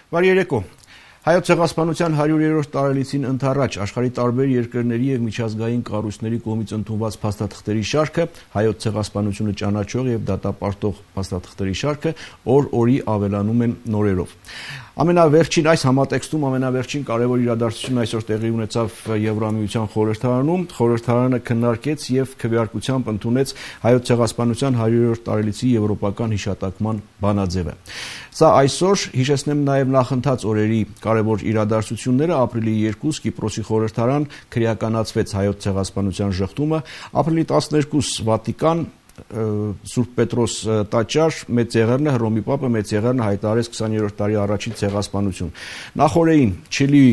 Բարի երեկո։ Հայոց ցեղասպանության 100-րդ տարելիցին ընթառաջ աշխարհի տարբեր երկրների եւ միջազգային կառույցների կողմից ընդունված փաստաթղթերի շարքը, հայոց ցեղասպանությունը ճանաչող եւ դատապարտող փաստաթղթերի շարքը օր-օրի ավելանում են նորերով։ Ամենավերջին այս համատեքստում ամենավերջին կարևոր իրադարձությունն այսօր տեղի ունեցավ Եվրամիության խորհրդարանում։ Խորհրդարանը քննարկեց եւ քվեարկությամբ ընդունեց հայոց ցեղասպանության 100-րդ տարելիցի եվրոպական հիշատակման բանաձևը։ Սա այսօր հիշեցնեմ նաեւ նախընթաց օրերի կարևոր իրադարձությունները ապրիլի 2 Կիպրոսի խորհրդարան քրեականացվեց հայոց ցեղասպանության ժխտումը, ապրիլի 12 Վատիկան Սուրբ Պետրոս տաճար Մեծ Եղեռնը Հռոմի Պապը Մեծ Եղեռնը հայտարարեց 20-րդ տարի առաջին ցեղասպանություն։ Նախորդին Չիլիի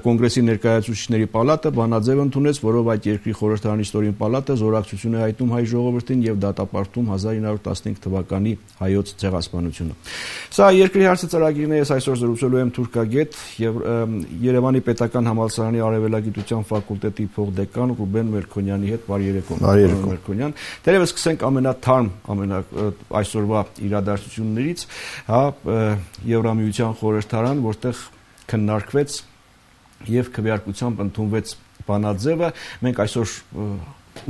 կոնգրեսի ներկայացուցիչների պալատը բանաձև ընդունեց, որով այդ երկրի խորհրդարանի ստորին պալատը զորակցություն է հայտնում հայ ժողովրդին եւ դատապարտում 1915 թվականի հայոց ցեղասպանությունը։ Սա երկրի հարցը ծրագիրն է, ես այսօր զրուցելու եմ թուրքագետ եւ Երևանի Պետական Համալսարանի Արևելագիտության ֆակուլտետի փոխդեկան Ռուբեն Մելքոնյանի հետ։ Բարի երեկո։ Բարի երեկո։ Մելքոնյան։ Դերևս սկսենք ամենաթարմ այսօրվա իրադարձություններից, հա, Եվրամիության խորհրդարան, որտեղ քննարկվեց եւ քվեարկությամբ ընդունվեց բանաձևը։ Մենք այսօր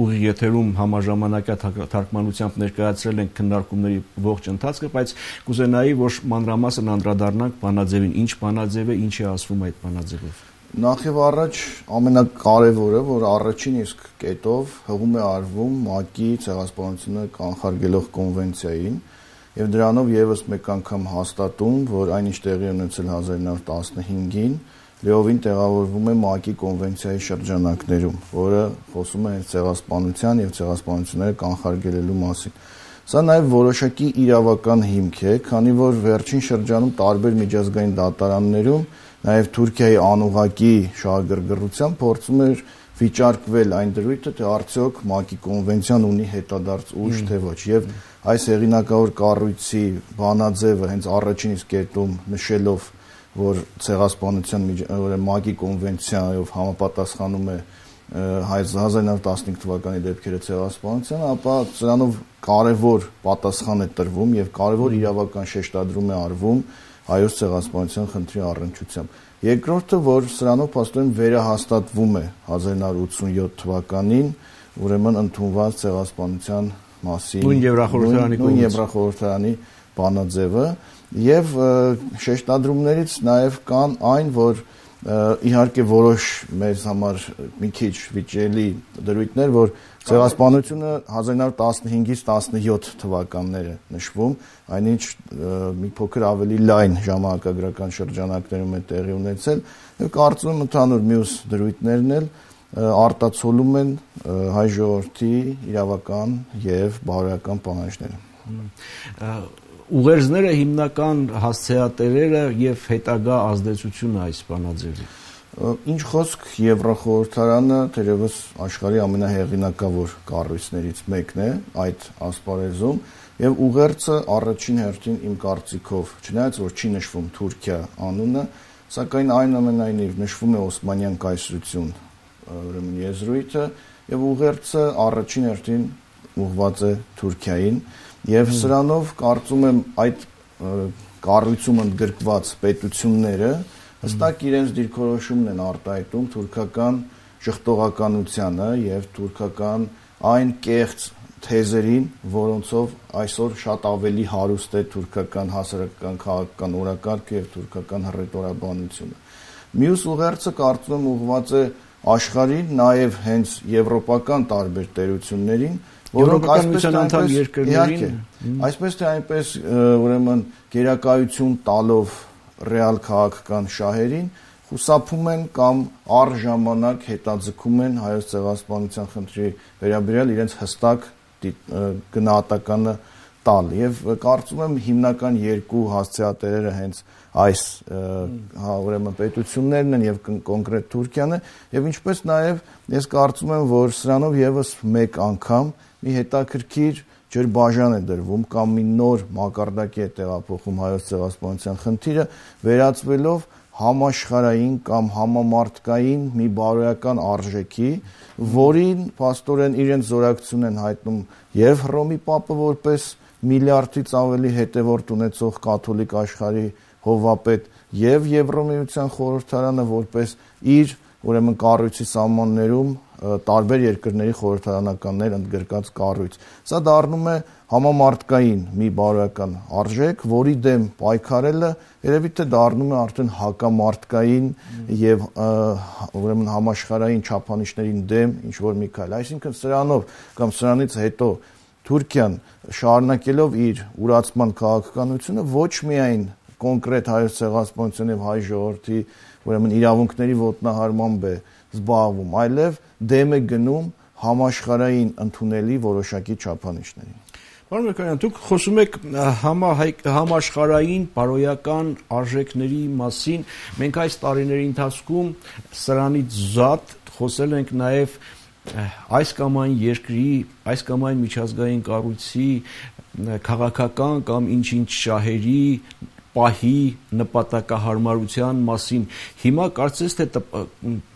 ուղիղ եթերում համաժամանակյա թարգմանությամբ ներկայացրել ենք քննարկումների ողջ ընթացքը, բայց կուզենայի, որ մանրամասն անդրադառնանք բանաձևին, ինչ բանաձև է, ինչ է ասվում այդ բանաձևով։ Նախ եւ առաջ ամենակարևորը, որ առաջին իսկ կետով հղում է արվում ՄԱԿ-ի ցեղասպանությունը կանխարգելող կոնվենցիային եւ դրանով եւս մեկ անգամ հաստատում, որ այնինչ տեղի ունեցել 1915-ին լիովին տեղավորվում է ՄԱԿ-ի կոնվենցիայի շրջանակներում, որը խոսում է ցեղասպանության եւ ցեղասպանությունները կանխարգելելու մասին։ Սա նաեւ որոշակի իրավական հիմք է, քանի որ վերջին շրջանում տարբեր միջազգային դատարաններում նաեւ Թուրքիայի անուղակի շահագրգռությամբ փորձում էր վիճարկվել այն դրույթը, թե արդյոք ՄԱԿ-ի կոնվենցիան ունի հետադարձ ուժ թե ոչ, եւ այս հեղինակավոր կառույցի բանաձևը հենց առաջին իսկ կետում նշելով, որ ցեղասպանության ՄԱԿ-ի կոնվենցիայով համապատասխանում է 1915 թվականի դեպքերը ցեղասպանության, ապա սրանով կարևոր պատասխան է տրվում եւ կարևոր իրավական շեշտադրում է արվում հայոց ցեղասպանության խնդրի առնչությամբ։ Երկրորդը, որ սրանով փաստորեն վերահաստատվում է 1987 թվականին, ուրեմն ընդունված ցեղասպանության մասին նույն Եվրախորհրդարանի բանաձևը եւ շեշտադրումներից նաեւ կան այն, որ իհարկե որոշ մեզ համար մի քիչ վիճելի դրույթներ, որ ցեղասպանությունը 1915-ից 17 թվականները նշվում, այնինչ մի փոքր ավելի լայն ժամանակագրական շրջանակներում է տեղի ունեցել եւ կարծում եմ ընդհանուր մյուս դրույթներն էլ արտացոլում են հայ ժողովրդի իրավական եւ բարոյական պահանջները։ Ուղերձները հիմնական հասցեատերերը եւ հետագա ազդեցությունը այս բանաձևի։ Ինչ խոսք Եվրախորհրդարանը թերևս աշխարհի ամենահեղինակավոր կառույցներից մեկն է այդ ասպարեզում եւ ուղերձը առաջին հերթին իմ կարծիքով, չնայած որ չի նշվում Թուրքիա անունը, սակայն այնուամենայնիվ նշվում է Օսմանյան կայսրություն, ուրեմն եզրույթը եւ ուղերձը առաջին հերթին ուղղված է Թուրքիային եւ սրանով կարծում եմ այդ կառույցում ընդգրկված պետությունները հստակ իրենց դիրքորոշումն են արտահայտում թուրքական ժխտողականությանը եւ թուրքական այն կեղծ թեզերին, որոնցով այսօր շատ ավելի հարուստ է թուրքական հասարակական քաղաքական օրակարգը եւ թուրքական հռետորաբանությունը։ Մյուս ուղերձը կարծում եմ ուղղված է աշխարհին, նաեւ հենց եվրոպական տարբեր տերություններին, որոնք այսպես թե այնպես ուրեմն գերակայություն տալով ռեալ քաղաքական շահերին խուսափում են կամ առժամանակ հետաձգում են հայոց ցեղասպանության խնդրի վերաբերյալ իրենց հստակ գնահատականը տալ եւ կարծում եմ հիմնական երկու հասցեատերերը հենց այս ուրեմն պետություններն են եւ կոնկրետ Թուրքիան է եւ ինչպես նաեւ ես կարծում եմ որ սրանով եւս մեկ անգամ մի հետաքրքիր ջրբաժան է դրվում կամ մի նոր մակարդակի է տեղափոխում հայոց ցեղասպանության խնդիրը վերածվելով համաշխարհային կամ համամարտկային մի բարոյական արժեքի, որին փաստորեն իրենց զորակցություն են հայտնում եւ Հռոմի Պապը որպես միլիարդից ավելի հետևորդ ունեցող կաթոլիկ աշխարհի հովվապետ եւ Եվրոմիության խորհրդարանը որպես իր ուրեմն կառույցի սահմաններում տարբեր երկրների խորհրդարանականներ ընդգրկած կառույց։ Սա դառնում է համամարտկային մի բարոյական արժեք, որի դեմ պայքարելը երևի թե դառնում է արդեն հակամարտկային եւ ուրեմն համաշխարհային չափանիշներին դեմ ինչ որ մի քայլ։ Այսինքն սրանով կամ սրանից հետո Թուրքիան շարունակելով իր ուրացման քաղաքականությունը ոչ միայն կոնկրետ հայոց ցեղասպանության եւ հայ ժողովրդի ուրեմն իրավունքների ոտնահարմամբ է զբաղվում, այլև դեմ է գնում համաշխարհային ընդունելի որոշակի չափանիշներին։ Պարոն Մերկարյան, դուք խոսում եք համաշխարհային բարոյական արժեքների մասին։ Մենք այս տարիների ընթացքում սրանից զատ խոսել ենք նաև այս կամ այն երկրի, այս կամ այն միջազգային կառույցի քաղաքական կամ ինչ-ինչ շահերի պահի նպատակահարմարության մասին։ Հիմա կարծես թե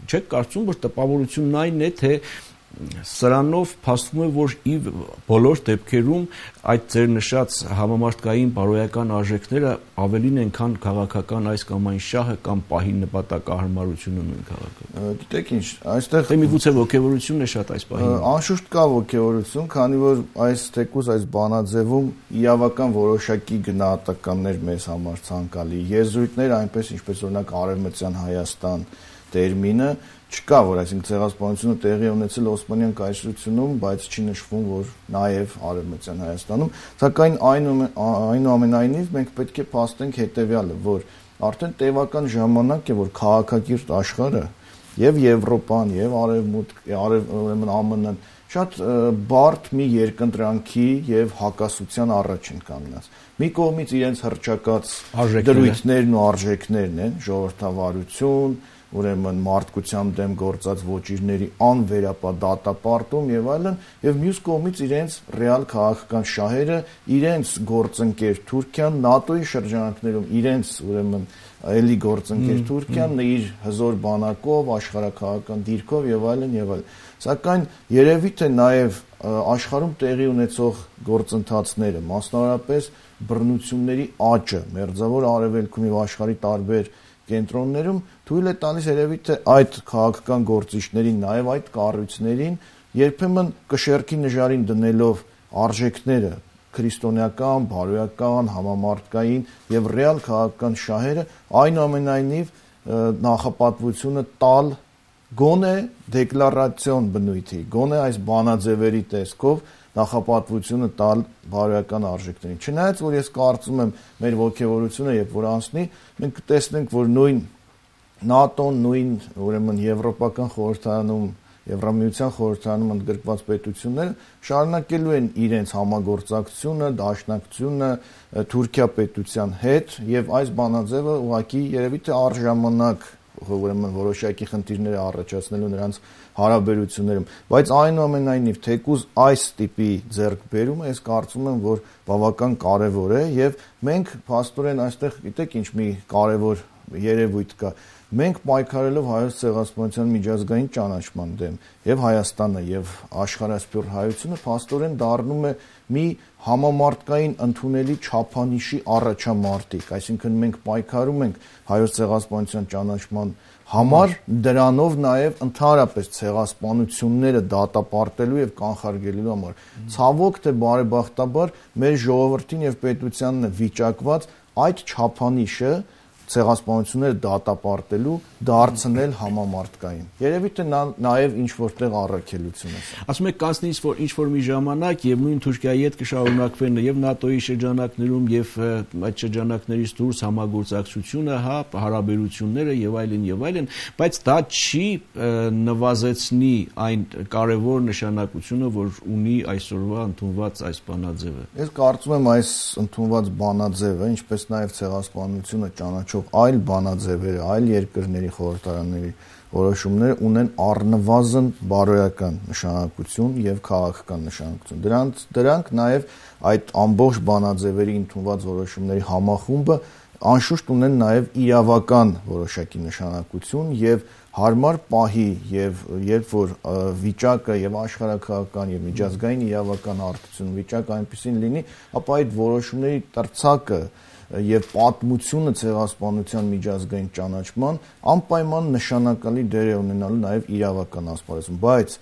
չեք կարծում, որ տպավորությունն այն է, թե սրանով փաստում է, որ բոլոր դեպքերում այդ ձեր նշած համամարտկային բարոյական արժեքները ավելին են, քան քաղաքական այս կամ այն շահը կամ պահի նպատակահարմարությունը նույն քաղաքում։ Գիտեք ինչ, այստեղ միգուցե ոգևորությունն է շատ այս պահին։ Անշուշտ կա ոգևորություն, քանի որ այս թեկուզ այս բանաձևում իրավական որոշակի գնահատականներ մեզ համար ցանկալի եզրույթներ, այնպես ինչպես օրինակ Արևմտյան Հայաստան տերմինը չկա, որ այսինքն ցեղասպանությունը տեղի ունեցել Օսմանյան կայսրությունում, բայց չի նշվում, որ նաև Արևմտյան Հայաստանում, սակայն այնուամենայնիվ մենք պետք է փաստենք հետևյալը, որ արդեն տևական ժամանակ է, որ քաղաքակիրթ աշխարհը եւ Եվրոպան, եւ ուրեմն ԱՄՆ-ն շատ բարդ մի երկընտրանքի եւ հակասության առաջ են կանգնած։ Մի կողմից իրենց հռչակած դրույթներն ու արժեքներն են, ժողովրդավարություն, ուրեմն մարդկության դեմ գործած ոճիրների անվերապադատապարտում եւ այլն, եւ մյուս կողմից իրենց ռեալ քաղաքական շահերը, իրենց գործընկեր Թուրքիան, ՆԱՏՕ-ի շրջանակներում իրենց ուրեմն էլի գործընկեր Թուրքիան իր հզոր բանակով, աշխարհակաղակական դիրքով եւ այլն եւ այլն։ Սակայն երևի թե նաեւ աշխարհում տեղի ունեցող գործընթացները, մասնավորապես բռնությունների աճը, մերձավոր արևելքում եւ աշխարհի տարբեր կենտրոններում թույլ է տալիս երևի թե այդ քաղաքական գործիչներին, նաև այդ կառույցներին երբեմն կշեռքի նժարին դնելով արժեքները, քրիստոնեական, բարոյական, համամարտկային եւ ռեալ քաղաքական շահերը, այնուամենայնիվ նախապատվությունը տալ գոնե դեկլարացիոն բնույթի, գոնե այս բանաձևերի տեսքով նախապատվությունը տալ բարոյական արժեքներին։ Չնայած որ ես կարծում եմ մեր ոգևորությունը երբ որ անցնի, մենք կտեսնենք, որ նույն ՆԱՏՕ-ն, նույն ուրեմն եվրոպական խորհրդարանում, Եվրամիության խորհրդարանում ընդգրկված պետությունները շարունակելու են իրենց համագործակցությունը, դաշնակցությունը Թուրքիա պետության հետ եւ այս բանաձևը ուղղակի երևի թե առժամանակ ուրեմն որոշակի խնդիրներ առաջացնելու նրանց հարաբերություններում, բայց այնուամենայնիվ թեկուզ այս տիպի ձեռքբերումը ես կարծում եմ, որ բավական կարևոր է եւ մենք փաստորեն այստեղ գիտեք ինչ մի կարևոր երևույթ կա, մենք պայքարելով հայոց ցեղասպանության միջազգային ճանաչման դեմ եւ Հայաստանը եւ աշխարհասփյուռ հայությունը փաստորեն դառնում է մի համամարտկային ընդունելի չափանիշի առաջամարտիկ, այսինքն մենք պայքարում ենք հայոց ցեղասպանության ճանաչման համար, դրանով նաև ընդհանրապես ցեղասպանությունները դատապարտելու եւ կանխարգելելու համար։ Ցավոք թե բարեբախտաբար մեր ժողովրդին եւ պետությանն է վիճակված այդ չափանիշը ցեղասպանությունները դատապարտելու դարձնել համամարտկային։ Երևի թե նաև ինչ որտեղ առաքելություն է։ Ասում եք կանցնի ինչ որ մի ժամանակ եւ նույն Թուրքիայի հետ կշարունակվեն եւ ՆԱՏՕ-ի շրջանակներում եւ այդ շրջանակներից դուրս համագործակցությունը, հա, հարաբերությունները եւ այլն, բայց դա չի նվազեցնի այն կարևոր նշանակությունը, որ ունի այսօրվա ընդունված այս բանաձևը։ Ես կարծում եմ այս ընդունված բանաձևը, ինչպես նաեւ ցեղասպանությունը ճանաչող այլ բանաձևերը, այլ երկրների խորհրդարանների որոշումները ունեն առնվազն բարոյական նշանակություն եւ քաղաքական նշանակություն։ Դրանք նաեւ այդ ամբողջ բանաձևերի ընդունված որոշումների համախումբը անշուշտ ունեն նաև իրավական որոշակի նշանակություն եւ հարմար պահի եւ երբ որ վիճակը եւ աշխարհակաղակական եւ միջազգային իրավական հարթություն վիճակը այնպեսին լինի, ապա այդ որոշումների տրցակը եւ պատմությունը ցեղասպանության միջազգային ճանաչման անպայման նշանակալի դեր է ունենալու նաև իրավական ասպարեզում, բայց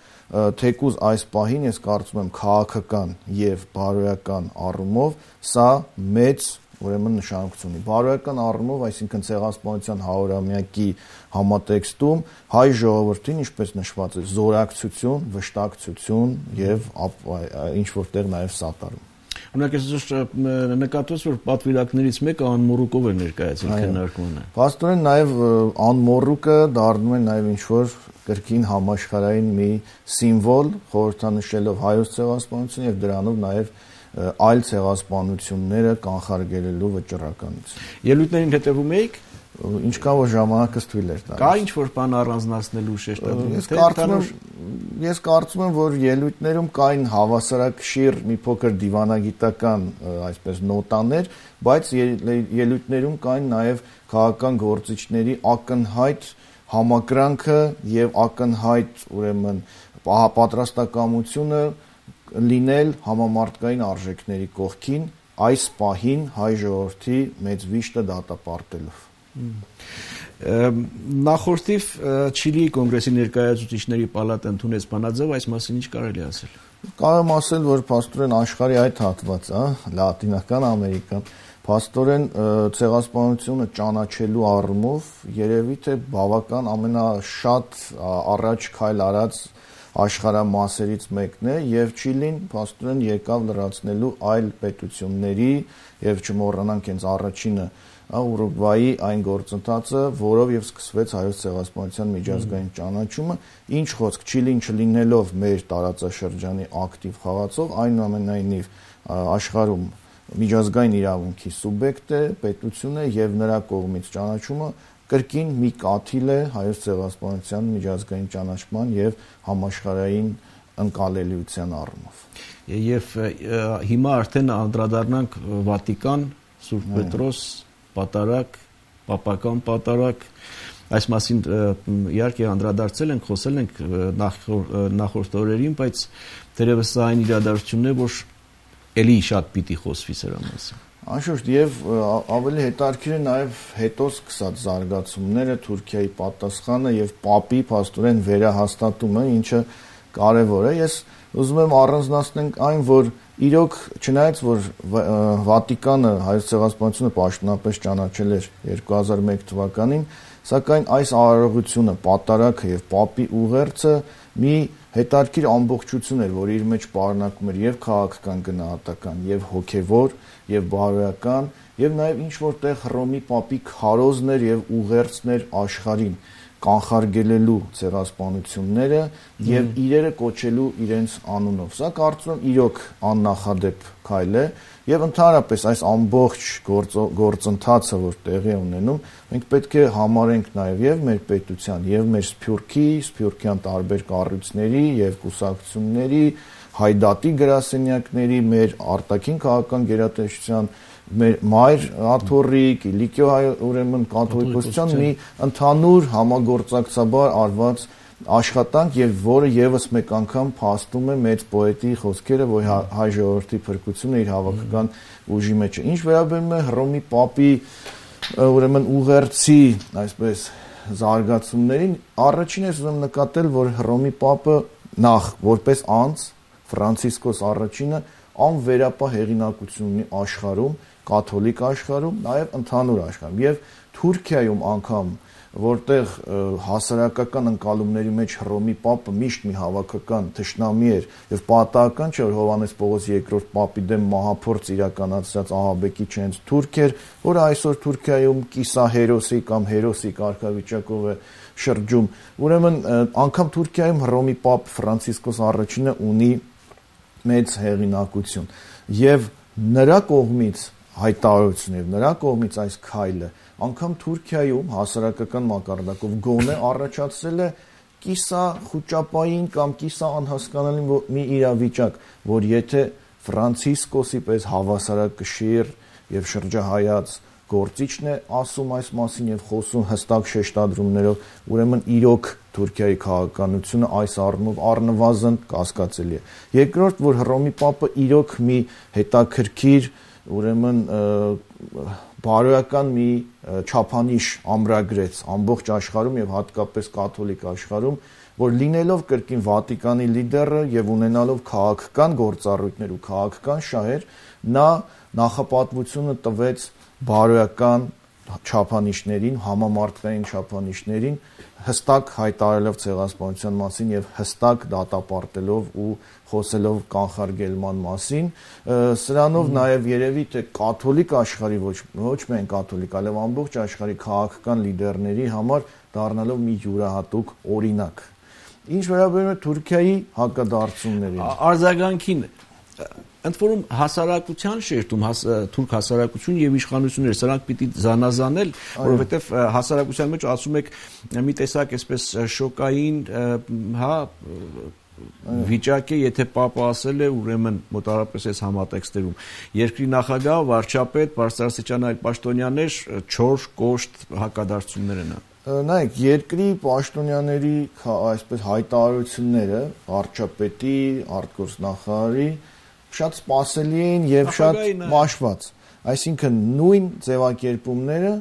թեկուզ այս պահին ես կարծում եմ քաղաքական եւ բարոյական առումով սա մեծ ուրեմն նշանակություն ունի։ Բարոյական առումով, այսինքն ցեղասպանության 100-ամյակի համատեքստում հայ ժողովրդին, ինչպես նշված է, զորակցություն, վշտակցություն եւ ինչ որտեղ նաև սատարում։ Օրինակ ես նկատեց, որ պատվիրակներից մեկը անմոռուկով է ներկայացել քննարկմանը։ Փաստորեն նաև անմոռուկը դառնում է նաև ինչ որ կրկին համաշխարհային մի սիմվոլ, խորհրդանշելով հայոց ցեղասպանությունը եւ դրանով նաև այլ ցեղասպանությունները կանխարգելելու վճռականություն։ Ելույթներին հետևում եք ինչքան որ ժամանակս թույլ էր տալիս։ Կա ինչ-որ բան առանձնացնելու շեշտադրելու։ Ես կարծում եմ, որ ելույթներում կային հավասարակշիռ մի փոքր դիվանագիտական, այսպես նոտաներ, բայց ելույթներում կային նաև քաղաքական գործիչների ակնհայտ համակրանքը եւ ակնհայտ ուրեմն պատրաստակամությունը լինել համամարտկային արժեքների կողքին այս պահին հայ ժողովրդի մեծ վիշտը դատապարտելով։ Նախորդիվ Չիլիի կոնգրեսի ներկայացուցիչների պալատը ընդունեց բանաձև, այս մասին ինչ կարելի ասել։ Կարող եմ ասել, որ փաստորեն աշխարհի այդ հատվածը, Լատինական Ամերիկան, փաստորեն ցեղասպանությունը ճանաչելու առումով երևի թե բավական ամենաշատ առաջ քայլ արած աշխարհամասերից մեկն է եւ Չիլին փաստորեն եկավ լրացնելու այլ պետությունների եւ չմոռանանք հենց առաջինը Ուրուգվայի այն գործընթացը, որով եւ սկսվեց հայոց ցեղասպանության միջազգային ճանաչումը, ինչ խոսք Չիլին չլինելով մեր տարածաշրջանի ակտիվ խաղացող, այնուամենայնիվ աշխարհում միջազգային իրավունքի սուբյեկտ է, պետություն է եւ նրա կողմից ճանաչումը կրկին մի կաթիլ է հայոց ցեղասպանության միջազգային ճանաչման եւ համաշխարհային ընկալելիության առումով։ Եվ հիմա արդեն անդրադառնանք Վատիկան, Սուրբ Պետրոս, պատարակ, պապական պատարակ, այս մասին իհարկե անդրադարձել ենք, խոսել ենք նախորդ օրերին, բայց դերևս այն իրադարձությունն է, որ էլի շատ պիտի խոսվի սրա մասին։ Անշուշտ եւ ավելի հետաքրքիր է նաեւ հետո սկսած զարգացումները, Թուրքիայի պատասխանը եւ Պապի փաստորեն վերահաստատումը, ինչը կարեւոր է։ Ես ուզում եմ առանձնացնենք այն, որ իրոք չնայած որ Վատիկանը հայոց ցեղասպանությունը պաշտոնապես ճանաչել էր 2001 թվականին, սակայն այս արարողությունը, պատարակը եւ Պապի ուղերձը մի հետաքրքիր ամբողջություն էր, որ իր մեջ պարունակում էր եւ քաղաքական գնահատական, եւ հոգեվոր, եւ բարոյական, եւ նաեւ ինչ որտեղ Հռոմի Պապի քարոզներ եւ ուղերձներ աշխարհին կանխարգելելու ցեղասպանությունները եւ իրերը կոչելու իրենց անունով։ Սա կարծում եմ իրոք աննախադեպ քայլ է եւ ընդհանրապես այս ամբողջ գործընթացը, որ տեղի է ունենում, մենք պետք է համարենք նաեւ եւ մեր պետության եւ մեր սփյուռքյան տարբեր կառույցների եւ կուսակցությունների, հայդատի գրասենյակների, մեր արտաքին քաղաքական գերատեսչության մեր մայր աթոռիկ, Իլիկիո ուրեմն կաթոլիկոսության մի ընդհանուր համագործակցաբար արված աշխատանք եւ որը եւս մեկ անգամ փաստում է մեծ պոետի խոսքերը, որ հայ ժողովրդի փրկությունը իր հավաքական ուժի մեջ է։ Ինչ վերաբերում է Հռոմի Պապի ուրեմն ուղերձի, այսպես զարգացումներին, առաջին ես ուզում նկատել, որ Հռոմի Պապը նախ որպես անձ Ֆրանցիսկոս առաջինը անվերապահ հեղինակություն ունի աշխարհում, կաթոլիկ աշխարհում, նաև ընդհանուր աշխարհում եւ Թուրքիայում անգամ, որտեղ հասարակական ընկալումների մեջ Հռոմի Պապը միշտ մի հավաքական թշնամի էր եւ պատահական չէ որ Հովհաննես Պողոս II Պապի դեմ մահափորձ իրականացրած ահաբեկիչ հենց թուրք էր, որը այսօր Թուրքիայում կիսահերոսի կամ հերոսի կարգավիճակով է շրջում։ Ուրեմն անգամ Թուրքիայում Հռոմի Պապ Ֆրանցիսկոս առաջինը ունի մեծ հեղինակություն եւ նրա կողմից հայտարարություն եւ նրա կողմից այս քայլը անգամ Թուրքիայում հասարակական մակարդակով գոնե առաջացրել է կիսա խոճապային կամ կիսա անհասկանալի մի իրավիճակ, որ եթե Ֆրանցիսկոսի պես հավասարակշիռ եւ շրջահայաց գործիչն է ասում այս մասին եւ խոսում հստակ շեշտադրումներով, ուրեմն իրոք Թուրքիայի քաղաքականությունը այս առումով առնվազն կասկածելի է։ Երկրորդ, որ Հռոմի Պապը իրոք մի հետաքրքիր, ուրեմն բարոյական մի չափանիշ ամրագրեց ամբողջ աշխարհում եւ հատկապես կաթոլիկ աշխարհում, որ լինելով կրկին Վատիկանի լիդերը եւ ունենալով քաղաքական գործառույթներ ու քաղաքական շահեր, նա նախապատվությունը տվեց բարոյական չափանիշներին, համամարտկային չափանիշներին, հստակ հայտարարելով ցեղասպանության մասին եւ հստակ դատապարտելով ու խոսելով կանխարգելման մասին, սրանով նաեւ երևի թե կաթոլիկ աշխարհի ոչ միայն կաթոլիկ, այլև ամբողջ աշխարհի քաղաքական լիդերների համար դառնալով մի յուրահատուկ օրինակ։ Ինչ վերաբերում է Թուրքիայի հակադարձություններին։ Արձագանքին ընդ որում հասարակության շերտում թուրք հասարակություն եւ իշխանությունները սրանք պիտի զանազանել, որովհետեւ հասարակության մեջ ասում եք մի տեսակ այսպես շոկային, հա, վիճակ է, եթե Պապը ասել է, ուրեմն մոտավորապես այս համատեքստերում երկրի նախագահ, վարչապետ, բարձրաստիճան այլ պաշտոնյաներ 4 կոշտ հակադարձություններ են։ Նայեք, երկրի պաշտոնյաների այսպես հայտարարությունները վարչապետի, արտգործնախարարի շատ սպասելի էին եւ շատ մաշված, այսինքն նույն ձևակերպումները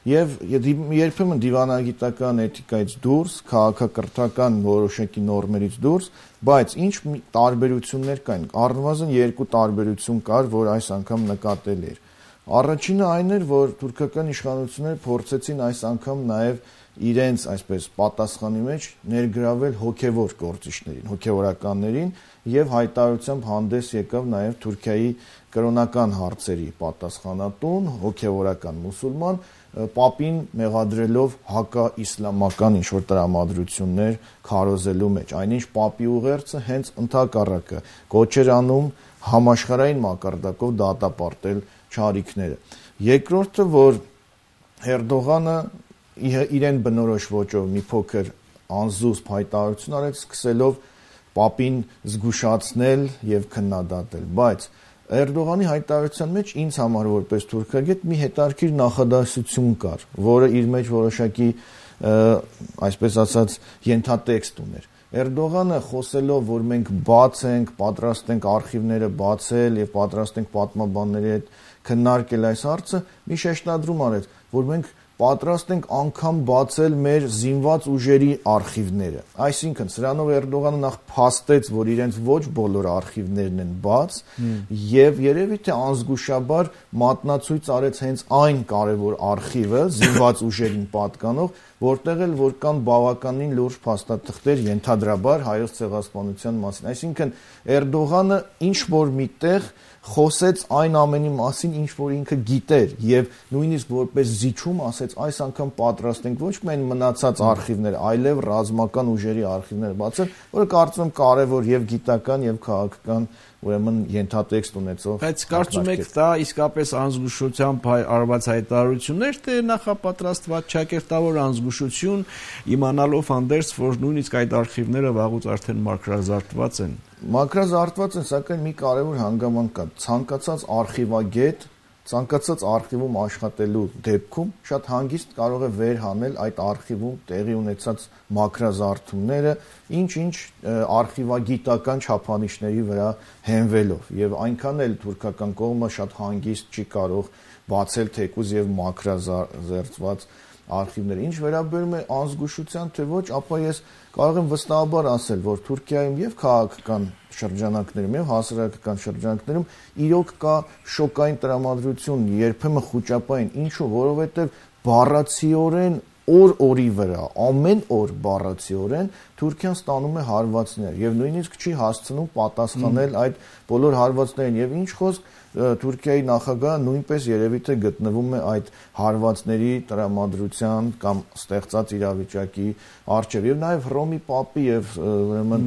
եւ երբեմն դիվանագիտական էթիկայից դուրս, քաղաքակրթական որոշակի նորմերից դուրս, բայց ինչ տարբերություններ կային, առնվազն 2 տարբերություն կար, որ այս անգամ նկատելի էր։ Առաջինը այն էր, որ թուրքական իշխանությունները փորձեցին այս անգամ նաեւ իրենց այսպես պատասխանի մեջ ներգրավել հոգևոր գործիչներին, հոգևորականներին եւ հայտարարությամբ հանդես եկավ նաեւ Թուրքիայի կրոնական հարցերի պատասխանատուն, հոգևորական մուսուլման, Պապին մեղադրելով հակաիսլամական ինչ-որ տրամադրություններ քարոզելու մեջ, այնինչ Պապի ուղերձը հենց ընդհակառակը կոչեր անում համաշխարհային մակարդակով դատապարտել չարիքները։ Երկրորդը, որ Էրդողանը իրեն բնորոշ ոճով մի փոքր անզուսպ հայտարարություն արեց, սկսելով Պապին զգուշացնել եւ քննադատել, բայց Էրդողանի հայտարարության մեջ ինձ համար որպես թուրքագետ մի հետաքրքիր նախադասություն կար, որը իր մեջ որոշակի այսպես ասած ենթատեքստ ուներ։ Էրդողանը խոսելով, որ մենք բաց ենք, պատրաստ ենք արխիվները բացել եւ պատրաստ ենք պատմաբանների հետ քննարկել այս հարցը, մի շեշտադրում արեց, որ մենք պատրաստ ենք անգամ բացել մեր զինված ուժերի արխիվները։ Այսինքն, սրանով Էրդողանը նախ փաստեց, որ իրենց ոչ բոլոր արխիվներն են բաց, եւ երևի թե անզգուշաբար մատնացույց արեց հենց այն կարևոր արխիվը, զինված ուժերին պատկանող, որտեղ էլ որ կան բավականին լուրջ փաստաթղթեր ենթադրաբար հայոց ցեղասպանության մասին։ Այսինքն, Էրդողանը ինչ որ միտեղ խոսեց այն ամենի մասին, ինչ որ ինքը գիտեր եւ նույնիսկ որպես զիջում ասեց այս անգամ պատրաստ ենք ոչ միայն մնացած արխիվներ, այլև ռազմական ուժերի արխիվներ բացել, որը կարծում եմ կարեւոր եւ գիտական եւ քաղաքական ուրեմն ենթատեքստ ունեցող։ Բայց կարծում եք դա իսկապես անզգուշությամբ արված հայտարարություններ, թե նախապատրաստված ճակերտավոր անզգուշություն, իմանալով հանդերձ, որ նույնիսկ այդ արխիվները վաղուց արդեն մաքրազարդված են։ Մաքրազարդված են, սակայն մի կարևոր հանգամանք կա։ Ցանկացած արխիվագետ, ցանկացած արխիվում աշխատելու դեպքում շատ հանգիստ կարող է վերհանել այդ արխիվում տեղի ունեցած մաքրազարդումները, ինչ-ինչ արխիվագիտական չափանիշների վրա հենվելով, եւ այնքան էլ թուրքական կողմը շատ հանգիստ չի կարող բացել թեկուզ եւ մաքրազարդված արխիվները։ Ինչ վերաբերում է անզգուշության, թե ոչ, ապա ես կարող եմ վստահաբար ասել, որ Թուրքիայում եւ քաղաքական շրջանակներում եւ հասարակական շրջանակներում իրոք կա շոկային տրամադրություն, երբեմն խոճապային, ինչու, որովհետեւ բառացիորեն օր-օրի վրա, ամեն օր բառացիորեն Թուրքիան ստանում է հարվածներ եւ նույնիսկ չի հասցնում պատասխանել այդ բոլոր հարվածներին եւ ինչ խոսք Թուրքիայի նախագահը նույնպես երևի թե գտնվում է այդ հարվածների տրամադրության կամ ստեղծած իրավիճակի առջև եւ նաեւ Հռոմի Պապի եւ ուրեմն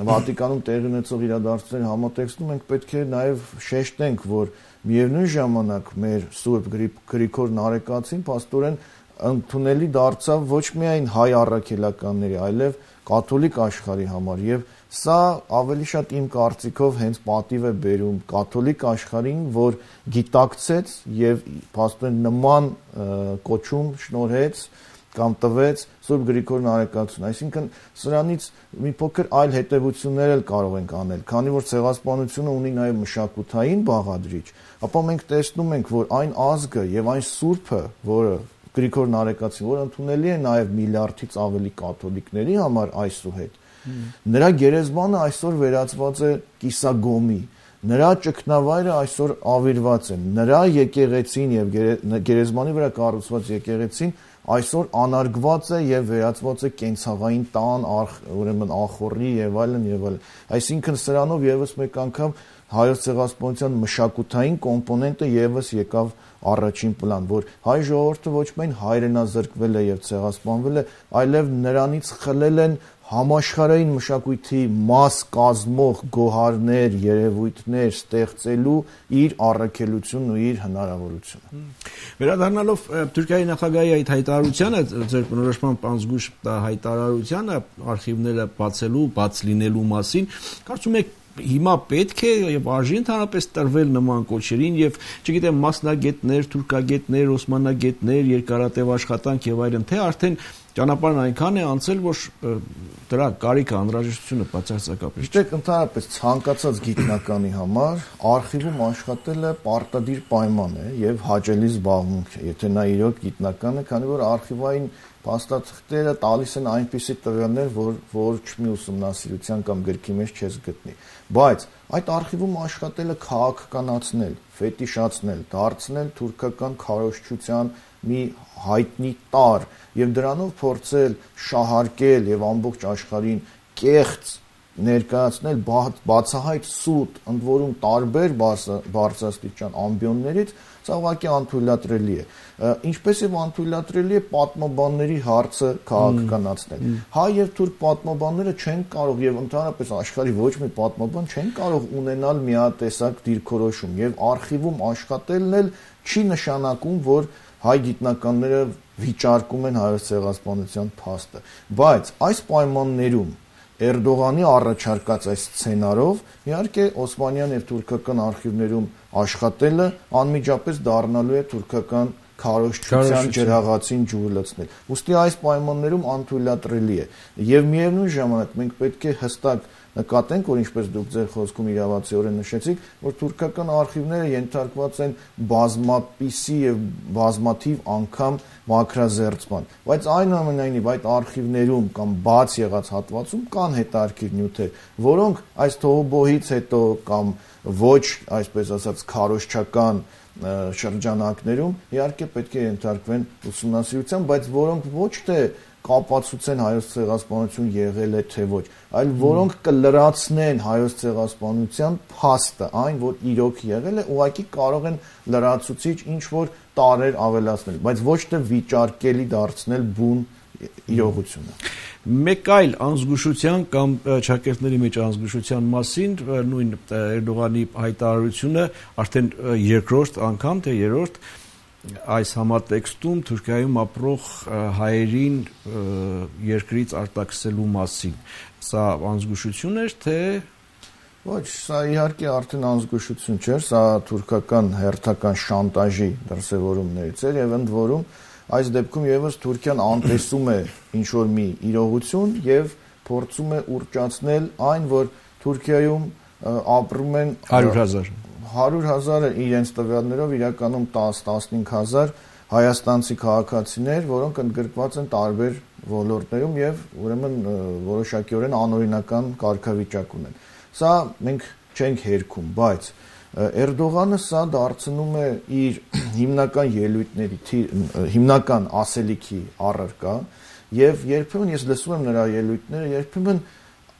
Վատիկանում տեղի ունեցող իրադարձությունների համատեքստում մենք պետք է նաեւ շեշտենք, որ միևնույն ժամանակ մեր Սուրբ Գրիգոր Նարեկացին փաստորեն ընդունելի դարձավ ոչ միայն հայ առաքելականների, այլև կաթոլիկ աշխարհի համար եւ Սա ավելի շատ իմ կարծիքով հենց պատիվ է բերում կաթոլիկ աշխարհին, որ գիտակցեց եւ փաստորեն նման կոչում շնորհեց կամ տվեց Սուրբ Գրիգոր Նարեկացուն, այսինքն սրանից մի փոքր այլ հետևություններ էլ կարող ենք անել, քանի որ ցեղասպանությունը ունի նաև մշակութային բաղադրիչ, ապա մենք տեսնում ենք, որ այն ազգը եւ այն սուրբը, որը Գրիգոր Նարեկացին, որ ընդունելի է նաև միլիարդից ավելի կաթոլիկների համար այսուհետ, նրա գերեզմանը այսօր վերածված է կիսագոմի, նրա ճգնավայրը այսօր ավիրված է, նրա եկեղեցին եւ գերեզմանի վրա կառուցված եկեղեցին այսօր անարգված է եւ վերածված է կենցաղային տան, ուրեմն ախորի եւ այլն, այսինքն սրանով եւս մեկ անգամ հայոց ցեղասպանության մշակութային կոմպոնենտը եւս եկավ առաջին պլան, որ հայ ժողովուրդը ոչ միայն հայրենազրկվել է եւ ցեղասպանվել է, այլև նրանից խլել են համաշխարհային մշակույթի մաս կազմող գոհարներ, երևույթներ ստեղծելու իր առաքելությունն ու իր հնարավորությունը։ Վերադառնալով Թուրքիայի նախագահի այդ հայտարարությանը, ձեր բնորոշմամբ անզգույշ հայտարարությանը արխիվները բացելու, բաց լինելու մասին, կարծում եք հիմա պետք է եւ արժի ընդհանրապես տրվել նման կոչերին եւ չգիտեմ մասնագետներ, թուրքագետներ, օսմանագետներ, երկարատև աշխատանք եւ այլն, թե արդեն ճանապարհն այնքան է անցել, որ դրա կարիքը անհրաժեշտությունը բացարձակապես։ Գիտեք, ընդհանրապես ցանկացած գիտնականի համար արխիվում աշխատելը պարտադիր պայման է եւ հաճելի զբաղմունք է, եթե նա իրոք գիտնական է, քանի որ արխիվային փաստաթղթերը տալիս են այնպիսի տվյալներ, որ ոչ մի ուսումնասիրության կամ գրքի մեջ չես գտնի։ Բայց այդ արխիվում աշխատելը քաղաքականացնել, ֆետիշացնել, դարձնել թուրքական քարոզչության մի հայտնի տարր եւ դրանով փորձել շահարկել եւ ամբողջ աշխարհին կեղծ ներկայացնել բացահայտ սուտ, ընդ որում տարբեր բարձրաստիճան ամբիոններից, սա ուղղակի անթույլատրելի է։ Ինչպես եւ անթույլատրելի է պատմաբանների հարցը քաղաքականացնել։ Հայ եւ թուրք պատմաբանները չեն կարող եւ ընդհանրապես աշխարհի ոչ մի պատմաբան չեն կարող ունենալ միատեսակ դիրքորոշում եւ արխիվում աշխատելն էլ չի նշանակում, որ հայ գիտնականները վիճարկում են հայոց ցեղասպանության փաստը, բայց այս պայմաններում Էրդողանի առաջարկած այս սցենարով իհարկե օսմանյան եւ թուրքական արխիվներում աշխատելը անմիջապես դառնալու է թուրքական քարոզչության ջրաղացին ջուր լցնել։ Ուստի այս պայմաններում անթույլատրելի է եւ միևնույն ժամանակ մենք պետք է հստակ նկատենք, որ ինչպես դուք ձեր խոսքում իրավացիորեն նշեցիք, որ թուրքական արխիվները ենթարկված են բազմապիսի եւ բազմաթիվ անգամ մաքրազերծման, բայց այնուամենայնիվ այդ արխիվներում կամ բաց եղած հատվածում կան հետարքիր նյութեր, որոնք այս թողոբոհից հետո կամ ոչ, այսպես ասած, քարոզչական շրջանակներում իհարկե պետք է ենթարկվեն ուսումնասիրության, բայց որոնք ոչ թե կապացուցեն հայոց ցեղասպանություն եղել է թե ոչ, այլ որոնք կլրացնեն հայոց ցեղասպանության փաստը, այն որ իրոք եղել է, ուղղակի կարող են լրացուցիչ ինչ որ տարեր ավելացնել, բայց ոչ թե վիճարկելի դարձնել բուն իրողությունը։ Մեկ այլ անզգուշության կամ ճակերտների մեջ անզգուշության մասին նույն Էրդողանի հայտարարությունը արդեն երկրորդ անգամ թե երրորդ այս համատեքստում Թուրքիայում ապրող հայերին երկրից արտաքսելու մասին։ Սա անզգուշություն էր, թե ոչ, սա իհարկե արդեն անզգուշություն չէր, սա թուրքական հերթական շանտաժի դրսևորումներից էր եւ ընդ որում այս դեպքում եւս Թուրքիան անտեսում է ինչ որ մի իրողություն եւ փորձում է ուռճացնել այն, որ Թուրքիայում ապրում են 100,000-ը իրենց տվյալներով իրականում 10-15,000 հայաստանցի քաղաքացիներ, որոնք ընդգրկված են տարբեր ոլորտներում եւ ուրեմն որոշակիորեն անօրինական կարգավիճակ ունեն։ Սա մենք չենք հերքում, բայց Էրդողանը սա դարձնում է իր հիմնական ելույթների հիմնական ասելիքի առարկա եւ երբեմն ես լսում եմ նրա ելույթները, երբեմն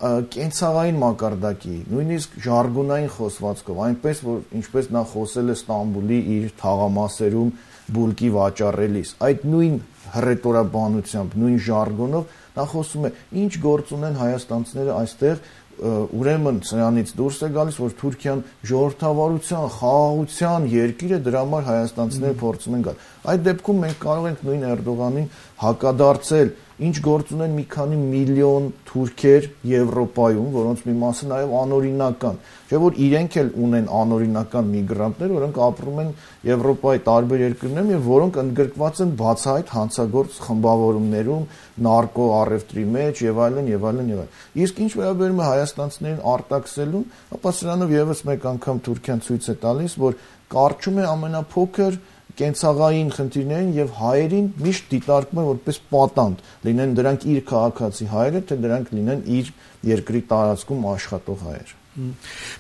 կենցաղային մակարդակի, նույնիսկ ժարգոնային խոսվածքով, այնպես որ ինչպես նա խոսել է Ստամբուլի իր թաղամասերում բուլկի վաճառելիս, այդ նույն հռետորաբանությամբ, նույն ժարգոնով նա խոսում է, ինչ գործ ունեն հայաստանցիները այստեղ, ուրեմն սրանից դուրս է գալիս, որ Թուրքիան ժողովրդավարության, խաղաղության երկիր է, դրա համար հայաստանցիները փորձում են գալ։ Այդ դեպքում մենք կարող ենք նույն Էրդողանին հակադարձել, ինչ գործ ունեն մի քանի միլիոն թուրքեր Եվրոպայում, որոնց մի մասը նաև անօրինական, չէ՞ որ իրենք էլ ունեն անօրինական միգրանտներ, որոնք ապրում են Եվրոպայի տարբեր երկրներում եւ որոնք ընդգրկված են բացահայտ հանցագործ խմբավորումներում, նարկո առևտրի մեջ եւ այլն եւ այլն եւ այլն։ Իսկ ինչ վերաբերում է հայաստանցիներին արտաքսելուն, ապա սրանով եւս մեկ անգամ Թուրքիան ցույց է տալիս, որ կարճում է ամենափոքր կենցաղային խնդիրներին եւ հայերին միշտ դիտարկում է որպես պատանդ, լինեն դրանք իր քաղաքացի հայերը, թե դրանք լինեն իր երկրի տարածքում աշխատող հայեր։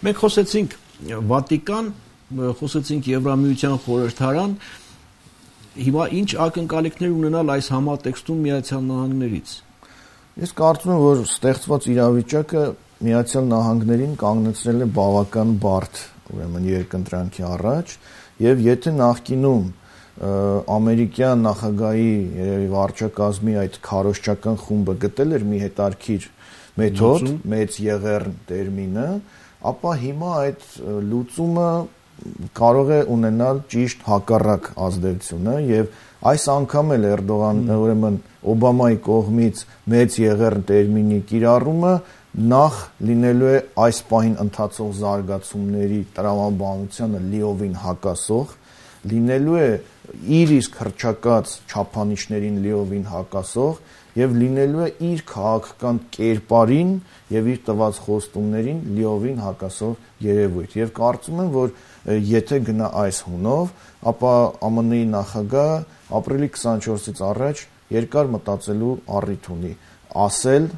Մենք խոսեցինք Վատիկան, խոսեցինք Եվրամիության խորհրդարան, հիմա ինչ ակնկալիքներ ունենալ այս համատեքստում Միացյալ Նահանգներից։ Ես կարծում եմ, որ ստեղծված իրավիճակը Միացյալ Նահանգներին կանգնեցրել է բավական բարդ, ուրեմն երկընտրանքի առաջ, եւ եթե նախկինում ամերիկյան նախագահի երևի վարչակազմի այդ քարոզչական խումբը գտել էր մի հետարքիր մեթոդ, մեծ եղեռն տերմինը, ապա հիմա այդ լուծումը կարող է ունենալ ճիշտ հակառակ ազդեցությունը եւ այս անգամ էլ Էրդողանը, ուրեմն Օբամայի կողմից մեծ եղեռն տերմինի կիրառումը նախ լինելու է այս պահին ընթացող զարգացումների տրամաբանությանը լիովին հակասող, լինելու է իր իսկ հռչակած չափանիշներին լիովին հակասող եւ լինելու է իր քաղաքական կերպարին եւ իր տված խոստումներին լիովին հակասող երևույթ։ Եվ կարծում եմ, որ եթե գնա այս հունով, ապա ԱՄՆ-ի նախագահը ապրիլի 24-ից առաջ երկար մտածելու առիթ ունի, ասել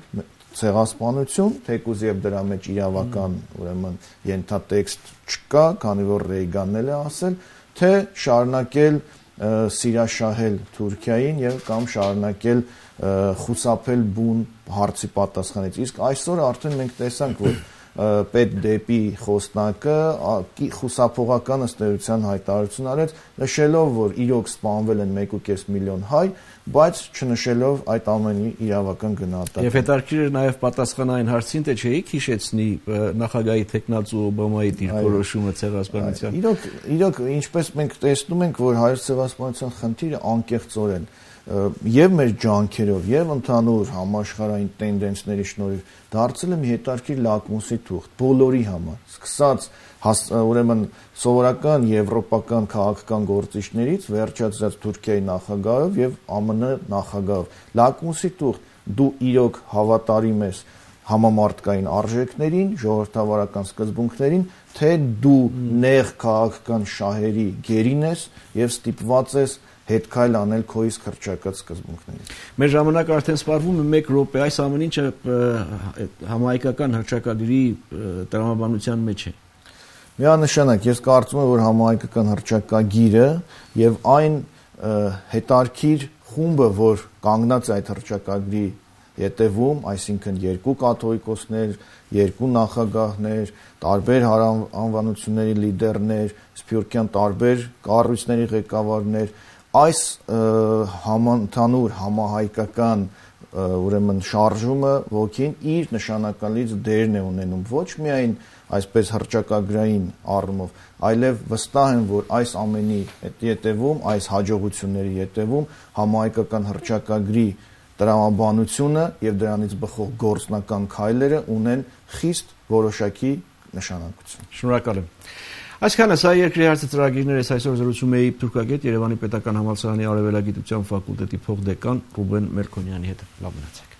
ցեղասպանություն, թեկուզ եւ դրա մեջ իրավական, ուրեմն ենթատեքստ չկա, քանի որ Ռեյգանն էլ է ասել, թե շարունակել սիրաշահել Թուրքիային եւ կամ շարունակել խուսափել բուն հարցի պատասխանից։ Իսկ այսօր արդեն մենք տեսանք, որ պետ դեպի խոսնակը խուսափողական ըստ էության հայտարարություն արեց, նշելով, որ իրոք սպանվել են 1.5 միլիոն հայ, բայց չնշելով այդ ամենի իրավական գնահատականը։ Եվ հետաքրքիր է նաև պատասխանային հարցին, թե չէիք հիշեցնի նախագահի տեխնացու Օբամայի դիրքորոշումը ցեղասպանության։ Իրոք, ինչպես մենք տեսնում ենք, որ հայոց ցեղասպանության խնդիրը անկեղծորեն եւ մեր ջանքերով եւ ընդհանուր համաշխարհային տենդենսների շնորհիվ դարձել է մի հետաքրքիր լակմուսի թուղթ բոլորի համար, սկսած ուրեմն սովորական եվրոպական քաղաքական գործիչներից վերջացած Թուրքիայի նախագահով եւ ԱՄՆ նախագահով։ Լակմուսի թուղթ, դու իրոք հավատարիմ ես համամարտկային արժեքներին, ժողովրդավարական սկզբունքներին, թե դու նեղ քաղաքական շահերի գերին ես եւ ստիպված ես հետ քայլ անել քո իսկ հռչակած սկզբունքներին։ Մեր ժամանակը արդեն սպառվում է 1 րոպե, այս ամեն ինչը համահայկական հռչակագրի տրամաբանության մեջ է։ Միանշանակ, ես կարծում եմ, որ համահայկական հռչակագիրը եւ այն հետարքիր խումբը, որ կանգնած է այդ հռչակագրի ետևում, այսինքն երկու կաթողիկոսներ, երկու նախագահներ, տարբեր անվանությունների լիդերներ, սփյուռքյան տարբեր կառույցների ղեկավարներ, այս համընդհանուր համահայկական ուրեմն շարժումը ոգին իր նշանակալից դերն է ունենում ոչ միայն այսպես հռչակագրային առումով, այլև վստահ եմ, որ այս ամենի ետևում, այս հաջողությունների ետևում համահայկական հռչակագրի տրամաբանությունը եւ դրանից բխող գործնական քայլերը ունեն խիստ որոշակի նշանակություն։ Շնորհակալ եմ։ Այսքանը սա երկրի հարցը ծրագիրներ ես այսօր զրուցում էի Թուրքագետ Երևանի Պետական Համալսարանի Արևելագիտության ֆակուլտետի փոխդեկան Ռուբեն Մերքոնյանի հետ։ Լավ մնացեք։